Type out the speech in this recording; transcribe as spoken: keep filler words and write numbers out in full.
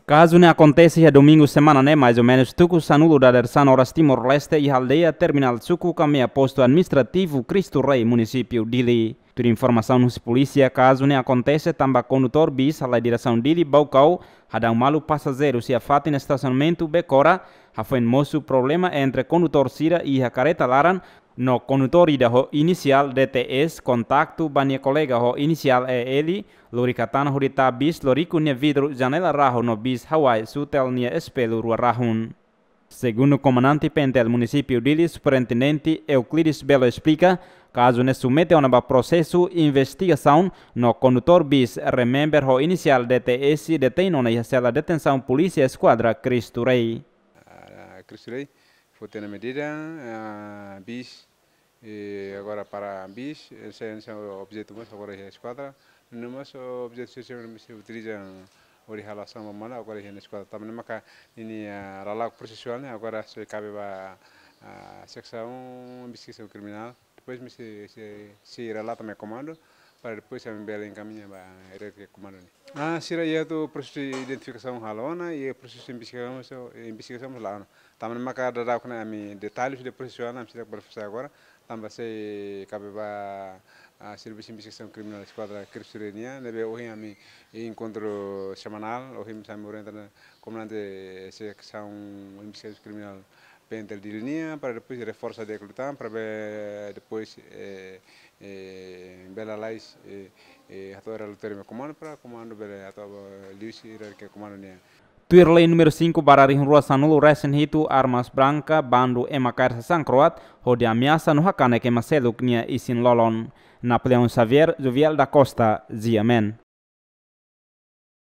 Kazu ne'e akontese iha domingu semana ne'e, mais ou menus tuku sanulu dadeer-san oras Timor-Leste, iha aldeia Terminál Suku, kaminda postu administrativu Cristo Rei, munisípiu Dili. Tuir informasaun husi polísia, kazu ne'e akontese tanba kondutór bis halai diresaun Dili Baucau, hadau malu pasajeiru iha fatin estasionamentu Becora, hafoin mosu problema entre kondutór sira iha kareta laran, no kondutór ida ho inisiál D T S kontaktu ba nia kolega ho inisiál E L, lori katana hodi tau bis loriku nia vidru janela rahun no bis hawai sutel nia espellu rua rahun. Segundu komandante PNTL munisípiu Dili, Superintendente Euclides Belo esplika, kazu ne'e submete ona ba prosesu investigasaun no kondutór bis remember ho inisiál D T S detein ona iha sela detensaun polísia eskuadra Cristo Rei. Ah, Cristo Rei, foti ona medida, ah, bis, eh, agora para bis, esse, esse é o objeto mais agora é esquadra, no mais o objeto se chama se utiliza ori halasaun ba mala, agora é na esquadra. Também maka ini, ah, rala prosesuál ne'e, agora sei kabe ba, ah, seksaun investigasaun kriminál. Depois me se, se, se relata mai komandu, para depois ami bele enkamiña ba R R Q komandu ne'e. Ah, sira iha atu prosesu identifikasaun halo ona, i prosesu investigasaun, investigasaun la'o ona. Tanba maka daudaun ne'e ami detalles de prosesu ne'e, ami seidauk bele fase agora, tanba sei kabe ba, ah, servisu investigasaun kriminál eskuadra Cristo Rei nian, ne'ebé ohin ami enkontru semanál, ohin ami orienta ona komandante seksaun investigasaun kriminál PNTL Dili nian, para depois reforsa di'ak liután, para be-, depois, eh, eh, bele lalais, eh, eh, hato'o relatóriu mai komandu, para komandu bele hato'o liuhusi R R Q komandu nian. Tuir lei númeru cinco barra rihun rua sanulu resin hitu, armas branka, bandu ema kaer sasán kroat, hodi ameasa no hakanek ema seluk nia isin-lolon. Napoleão Xavier, Jovial da Costa, G M N.